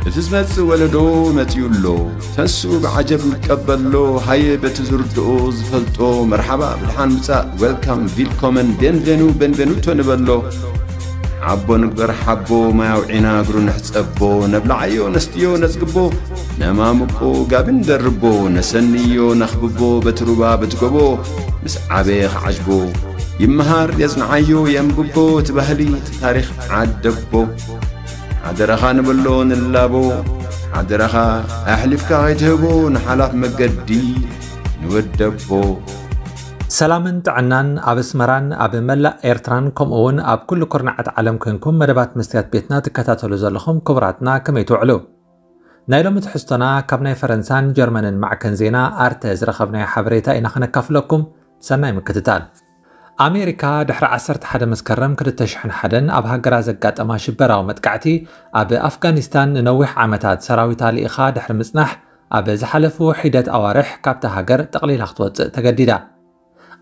እቲ ዝመጽእ ወለዶ መጺኡ ኣሎ። ተንስኡ ብዓጀብ ንቀበሎ። ሃየ በቲ ዝርድኦ ዝፈልጦ መርሓባ ብድሓን ምጻእ፣ ዌልካም፣ ቪልኮመን፣ ቤንቬኑ፣ ቤንቬኑቶ ንበሎ። ሓቦ ንግበር ሓቦ፣ ማይ ኣውዒና እግሩ ንሕጸቦ። ነብልዓዮ ነስትዮ ነጽግቦ፣ ነማምቆ ጋቢ ንደርቦ። ነሰንዮ ነኽብቦ በቲ ሩባ በቲ ጎቦ። ምስ ዓበየ ክዓጅቦ፣ ይመሃር የጽንዓዮ የንብቦ። እቲ ባህሊ እቲ ታሪኽ ዓደቦ። ሓደራኻ ንበሎ ንላቦ፣ ሓደራኻ ኣሕሊፍካ ከይትህቦ ንሓላፍ መገዲ ንወደቦ። ሰላምን ጥዕናን ኣብ ኣስመራን ኣብ መላእ ኤርትራን ከምኡ እውን ኣብ ኩሉ ኩርናዓት ዓለም ኮንኩም መደባት መስትያት ቤትና ትከታተሉ ዘለኹም ክቡራትና ከመይ ትውዕሉ? ናይ ሎሚ ትሕዝቶና ካብ ናይ ፈረንሳን ጀርመንን ማዕከን ዜና ኣርተ ዝረኸብናዮ ሓበሬታ ኢና ከነካፍለኩም። ሰናይ ምክትታል። ኣሜሪካ ድሕሪ ዓሰርተ ሓደ መስከረም ክልተ ሽሕን ሓደን ኣብ ሃገራ ዘጋጠማ ሽበራዊ መጥቃዕቲ ኣብ ኣፍጋኒስታን ንነዊሕ ዓመታት ሰራዊታ ልኢኻ ድሕሪ ምጽናሕ ኣብ ዝሓለፉ ሒደት ኣዋርሕ ካብታ ሃገር ጠቕሊላ ክትወጽእ ተገዲዳ።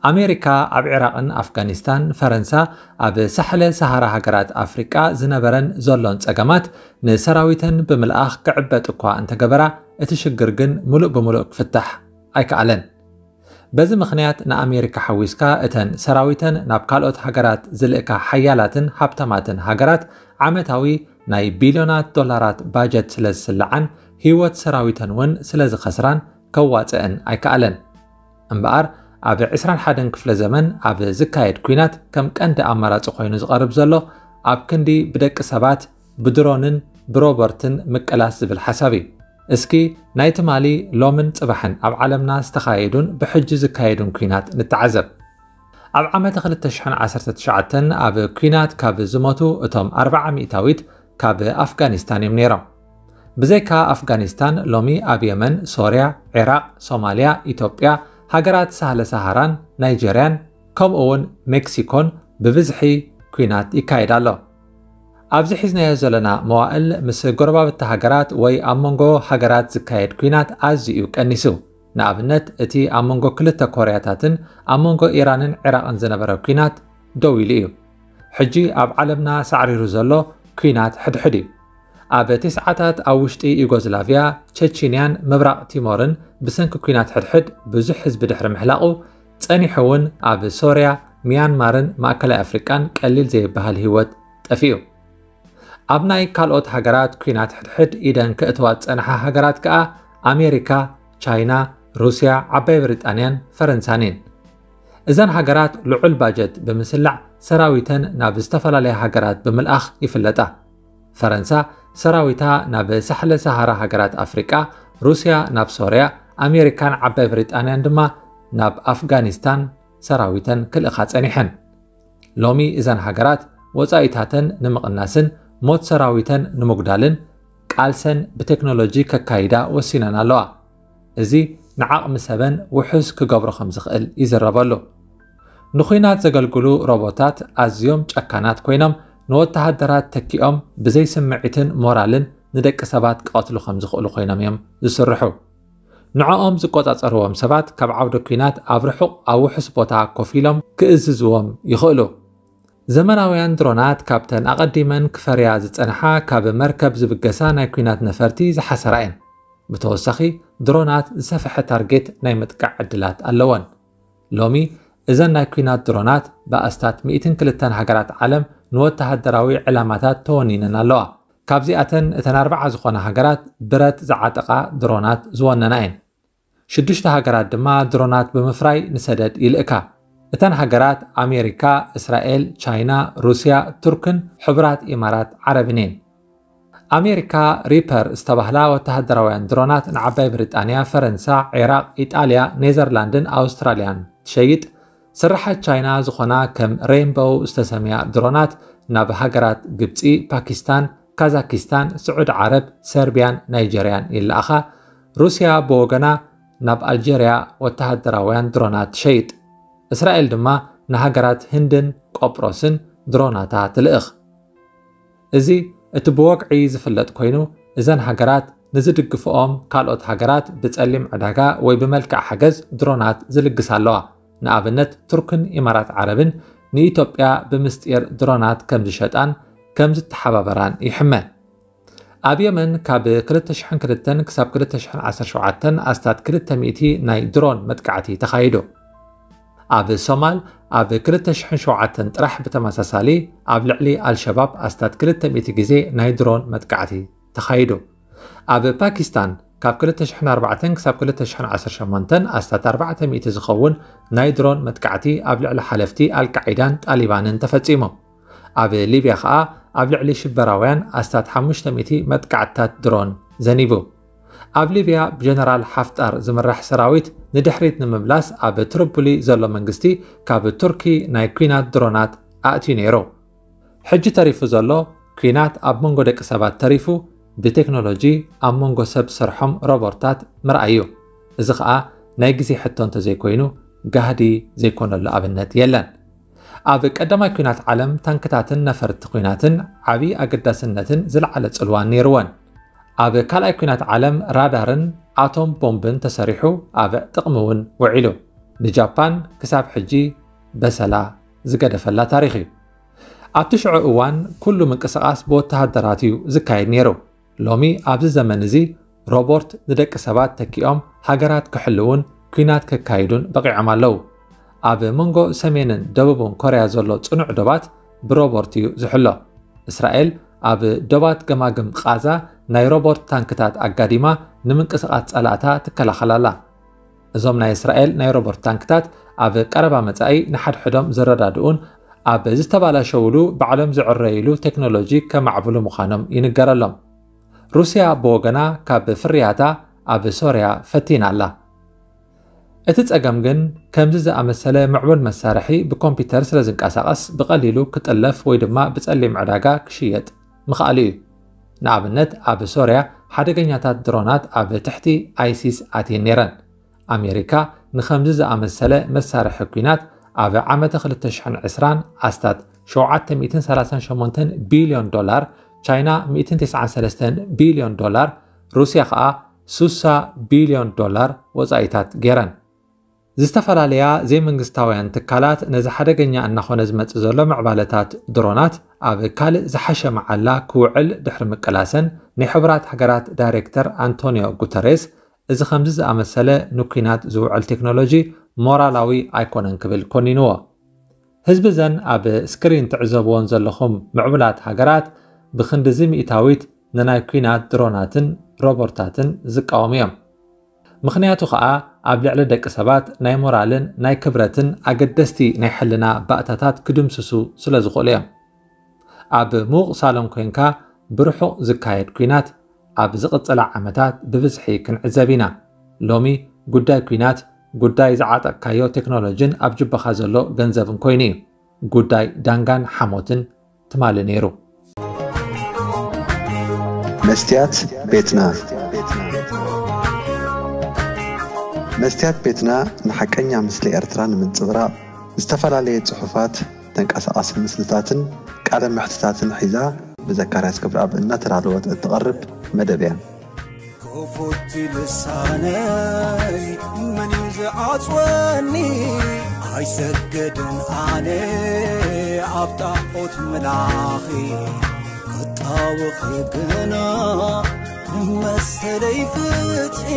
ኣሜሪካ ኣብ ዒራቕን ኣፍጋኒስታን፣ ፈረንሳ ኣብ ሳሕለ ሰሃራ ሃገራት ኣፍሪቃ ዝነበረን ዘሎን ጸገማት ንሰራዊተን ብምልኣኽ ክዕበጥ እኳ እንተገበራ እቲ ሽግር ግን ምሉእ ብምሉእ ክፍታሕ ኣይከኣለን። በዚ ምኽንያት ንኣሜሪካ ሓዊስካ እተን ሰራዊተን ናብ ካልኦት ሃገራት ዝልእካ ሓያላትን ሃብታማትን ሃገራት ዓመታዊ ናይ ቢልዮናት ዶላራት ባጀት ስለ ዝስልዓን ህይወት ሰራዊተን እውን ስለ ዝኸስራን ከዋፅአን ኣይከኣለን። እምበኣር ኣብ ዕስራን ሓደን ክፍለ ዘመን ኣብ ዝካየድ ኲናት ከም ቀንዲ ኣማራፂ ኮይኑ ዝቐርብ ዘሎ ኣብ ክንዲ ብደቂ ሰባት ብድሮንን ብሮቦርትን ምቅላስ ዝብል ሓሳብ እዩ። እስኪ ናይ ትማሊ ሎምን ፅባሕን ኣብ ዓለምና ዝተኻየዱን ብሕጂ ዝካየዱን ኲናት ንተዓዘብ። ኣብ ዓመተ ክልተ ሽሕን ዓሰርተ ትሽዓተን ኣብ ኲናት ካብ ዝሞቱ እቶም ኣርብዓ ሚእታዊት ካብ ኣፍጋኒስታን እዮም ነይሮም። ብዘይካ ኣፍጋኒስታን ሎሚ ኣብ የመን፣ ሶርያ፣ ዒራቕ፣ ሶማልያ፣ ኢትዮጵያ፣ ሃገራት ሳህለ ሰሃራን ናይጀርያን ከምኡ እውን ሜክሲኮን ብብዝሒ ኲናት ይካየድ ኣሎ። ኣብዚ ሒዝናዮ ዘለና መዋእል ምስ ጎረባብቲ ሃገራት ወይ ኣብ መንጎ ሃገራት ዝካየድ ኲናት ኣዝዩ እዩ ቀኒሱ። ንኣብነት እቲ ኣብ መንጎ ክልተ ኮርያታትን ኣብ መንጎ ኢራንን ዒራቕን ዝነበረ ኲናት ደው ኢሉ እዩ። ሕጂ ኣብ ዓለምና ሳዕሪሩ ዘሎ ኲናት ሕድሕድ እዩ። ኣብ ተስዓታት ኣብ ውሽጢ ዩጎዝላቭያ፣ ቸቺንያን ምብራቕ ቲሞርን ብሰንኪ ኲናት ሕድሕድ ብዙሕ ህዝቢ ድሕሪ ምሕላቑ፣ ጸኒሑ እውን ኣብ ሶርያ፣ ሚያንማርን ማእከላይ ኣፍሪቃን ቀሊል ዘይበሃል ህይወት ጠፊኡ። ኣብ ናይ ካልኦት ሃገራት ኲናት ሕድሕድ ኢደን ከእትዋ ዝጸንሓ ሃገራት ከኣ ኣሜሪካ፣ ቻይና፣ ሩስያ፣ ዓባይ ብሪጣንያን ፈረንሳን እየን። እዘን ሃገራት ልዑል ባጀት ብምስላዕ ሰራዊተን ናብ ዝተፈላለያ ሃገራት ብምልኣኽ ይፍለጣ። ፈረንሳ ሰራዊታ ናብ ሳሕለ ሰሃራ ሃገራት ኣፍሪቃ፣ ሩስያ ናብ ሶርያ፣ ኣሜሪካን ዓባይ ብሪጣንያን ድማ ናብ ኣፍጋኒስታን ሰራዊተን ክልእኻ ጸኒሐን። ሎሚ እዘን ሃገራት ወጻኢታተን ንምቕናስን ሞት ሰራዊተን ንምጉዳልን ቃልሰን ብቴክኖሎጂ ከካይዳ ወሲነን ኣለዋ። እዚ ንዓቕሚ ሰበን ውሑስ ክገብሮ ከም ዝኽእል ይዝረበሉ። ንኹናት ዘገልግሉ ሮቦታት ኣዝዮም ጨካናት ኮይኖም ንወተሃደራት ተኪኦም ብዘይ ስምዒትን ሞራልን ንደቂ ሰባት ክቐትሉ ከም ዝኽእሉ ኮይኖም እዮም ዝስርሑ። ንዕኦም ዝቆጻጸርዎም ሰባት ካብ ዓውደ ኲናት ኣብ ርሑቕ ኣብ ውሑስ ቦታ ኮፍ ኢሎም ክእዝዝዎም ይኽእሉ። ዘመናውያን ድሮናት ካብተን ኣቐዲመን ክፈርያ ዝጸንሓ ካብ መርከብ ዝብገሳ ናይ ኲናት ነፈርቲ ዝሓሰራ እየን። ብተወሳኺ ድሮናት ዝሰፍሐ ታርጌት ናይ ምጥቃዕ ዕድላት ኣለወን። ሎሚ እዘን ናይ ኲናት ድሮናት ብኣስታት ሚእትን ክልተን ሃገራት ዓለም ንወተሃደራዊ ዕላማታት ተወኒነን ኣለዋ። ካብዚኣተን እተን ኣርብዓ ዝኾና ሃገራት ብረት ዝዓጠቓ ድሮናት ዝወነና እየን። ሽዱሽተ ሃገራት ድማ ድሮናት ብምፍራይ ንሰደድ ይልእካ። እተን ሃገራት ኣሜሪካ፣ እስራኤል፣ ቻይና፣ ሩስያ፣ ቱርክን ሕቡራት ኢማራት ዓረብን እየን። ኣሜሪካ ሪፐር ዝተባህላ ወተሃደራውያን ድሮናት ንዓባይ ብሪጣንያ፣ ፈረንሳ፣ ዒራቕ፣ ኢጣልያ፣ ኔዘርላንድን ኣውስትራልያን ትሸይጥ። ስርሓት ቻይና ዝኾና ከም ሬንቦው ዝተሰምያ ድሮናት ናብ ሃገራት ግብጺ፣ ፓኪስታን፣ ካዛኪስታን፣ ስዑዲ ዓረብ፣ ሰርቢያን ናይጀርያን ይለኣኻ። ሩስያ ብወገና ናብ ኣልጀርያ ወተሃደራውያን ድሮናት ትሸይጥ። እስራኤል ድማ ንሃገራት ህንድን ቆጵሮስን ድሮናታ ትልእኽ። እዚ እቲ ብወግዒ ዝፍለጥ ኮይኑ፣ እዘን ሃገራት ንዝድግፍኦም ካልኦት ሃገራት ብጸሊም ዕዳጋ ወይ ብመልክዕ ሓገዝ ድሮናት ዝልግሳ ኣለዋ። ንኣብነት ቱርክን ኢማራት ዓረብን ንኢትዮጵያ ብምስጢር ድሮናት ከም ዝሸጣን ከም ዝተሓባበራን ይሕመ። ኣብ የመን ካብ ክልተ ሽሕን ክልተን ክሳብ ክልተ ሽሕን ዓሰርተ ሸውዓተን ኣስታት ክልተ ሚእቲ ናይ ድሮን መጥቃዕቲ ተኻይዱ። ኣብ ሶማል ኣብ ክልተ ሽሕን ሸውዓተን ጥራሕ ብተመሳሳሊ ኣብ ልዕሊ ኣልሸባብ ኣስታት ክልተ ሚእቲ ግዜ ናይ ድሮን መጥቃዕቲ ተኻይዱ። ኣብ ፓኪስታን ካብ ክልተ ሽሕን ኣርባዕተን ክሳብ ክልተ ሽሕን ዓሰርተ ሸሞንተን ኣስታት ኣርባዕተ ሚእቲ ዝኸውን ናይ ድሮን መጥቃዕቲ ኣብ ልዕሊ ሓለፍቲ ኣልቃዒዳን ጣሊባንን ተፈጺሙ። ኣብ ሊብያ ኸኣ ኣብ ልዕሊ ሽበራውያን ኣስታት ሓሙሽተ ሚእቲ መጥቃዕትታት ድሮን ዘኒቡ። ኣብ ሊብያ ብጀነራል ሓፍጣር ዝምራሕ ሰራዊት ንድሕሪት ንምምላስ ኣብ ትሪፖሊ ዘሎ መንግስቲ ካብ ቱርኪ ናይ ኲናት ድሮናት ኣእትዩ ነይሩ። ሕጂ ተሪፉ ዘሎ ኲናት ኣብ መንጎ ደቂ ሰባት ተሪፉ ብቴክኖሎጂ ኣብ መንጎ ሰብ ሰርሖም ሮቦርታት ምርኣይ እዩ። እዚ ኸኣ ናይ ግዜ ሕቶ እንተዘይኮይኑ ጋህዲ ዘይኮነሉ ኣብነት የለን። ኣብ ቀዳማይ ኲናት ዓለም ታንክታትን ነፈርቲ ኲናትን ዓቢ ኣገዳስነትን ዝለዓለ ጽልዋን ነይርወን። ኣብ ካልኣይ ኲናት ዓለም ራዳርን ኣቶም ቦምብን ተሰሪሑ ኣብ ጥቕሚ እውን ውዒሉ። ንጃፓን ክሳብ ሕጂ በሰላ ዝገደፈላ ታሪኽ እዩ። ኣብቲ ሽዑ እዋን ኩሉ ምንቅስቓስ ብወተሃደራት እዩ ዝካየድ ነይሩ። ሎሚ ኣብዚ ዘመን እዚ ሮቦርት ንደቂ ሰባት ተኪኦም ሃገራት ክሕልውን ኲናት ከካይዱን በቒዖም ኣለዉ። ኣብ መንጎ ሰሜንን ደቡብን ኮርያ ዘሎ ጽኑዕ ዶባት ብሮቦርት እዩ ዝሕሎ። እስራኤል ኣብ ዶባት ገማግም ቃዛ ናይ ሮቦርት ታንክታት ኣጋዲማ ንምንቅስቓስ ጸላእታ ትከላኸል ኣላ። እዞም ናይ እስራኤል ናይ ሮቦርት ታንክታት ኣብ ቀረባ መጻኢ ንሓድሕዶም ዝረዳድኡን ኣብ ዝተባላሸውሉ ባዕሎም ዝዕረይሉ ቴክኖሎጂ ከማዕብሉ ምዃኖም ይንገረሎም። ሩስያ ብወገና ካብ ፍርያታ ኣብ ሶርያ ፈቲና ኣላ። እቲ ጸገም ግን ከምዚ ዝኣመሰለ ምዕቡል መሳርሒ ብኮምፒውተር ስለ ዝንቀሳቐስ ብቐሊሉ ክጥለፍ ወይ ድማ ብጸሊም ዕዳጋ ክሽየጥ ምኽኣሉ እዩ። ንኣብነት ኣብ ሶርያ ሓደገኛታት ድሮናት ኣብ ትሕቲ ኣይሲስ ኣትየን ነይረን። ኣሜሪካ ንኸምዚ ዝኣመሰለ መሳርሒ ኲናት ኣብ ዓመተ ክልተ ሽሕን ዕስራን ኣስታት ሸውዓተ ሚእትን ሰላሳን ሸሞንተን ቢልዮን ዶላር፣ ቻይና ሚእትን ተስዓን ሰለስተን ቢልዮን ዶላር፣ ሩስያ ኸኣ ሱሳ ቢልዮን ዶላር ወጻኢታት ገይረን። ዝተፈላለያ ዘይመንግስታውያን ትካላት ነዚ ሓደገኛ እናኾነ ዝመጽእ ዘሎ ምዕባለታት ድሮናት ኣብ ካልእ ዝሓሸ መዓላ ክውዕል ድሕሪ ምቅላሰን ናይ ሕቡራት ሃገራት ዳይሬክተር ኣንቶኒዮ ጉተሬስ እዚ ከምዚ ዝኣመሰለ ንኲናት ዝውዕል ቴክኖሎጂ ሞራላዊ ኣይኮነን ክብል ኮኒንዎ። ህዝቢ ዘን ኣብ ስክሪን ትዕዘብዎን ዘለኹም ምዕቡላት ሃገራት ብክንድዚ ሚእታዊት ንናይ ኲናት ድሮናትን ሮቦርታትን ዝቃወሙ እዮም። ምኽንያቱ ኸኣ ኣብ ልዕሊ ደቂ ሰባት ናይ ሞራልን ናይ ክብረትን ኣገደስቲ ናይ ሕልና ባእታታት ክድምስሱ ስለ ዝኽእሉ እዮም። ኣብ ምዉቕ ሳሎን ኮይንካ ብርሑቕ ዝካየድ ኲናት ኣብ ዝቕጽላ ዓመታት ብብዝሒ ክንዕዘብ ኢና። ሎሚ ጉዳይ ኲናት ጉዳይ ዝዓጠቕካዮ ቴክኖሎጂን ኣብ ጅባኻ ዘሎ ገንዘብን ኮይኑ እዩ። ጉዳይ ዳንጋን ሓሞትን ትማሊ ነይሩ። መስትያት ቤትና መስትያት ቤትና ንሓቀኛ ምስሊ ኤርትራ ንምንጽብራቕ ዝተፈላለየ ጽሑፋት፣ ተንቀሳቓሲ ምስልታትን ቃለ መሕትታትን ሒዛ ብዘካርያስ ክብረኣብ እናተዳለወት እትቐርብ መደብ እያ። ክፉት ልሳነይ መን እዩ ዝዓጽወኒ? ኣይሰገድን ኣነ ኣብ ጣዖት ምላኺ ክጣወኺ ግና መሰለይ ፍትሒ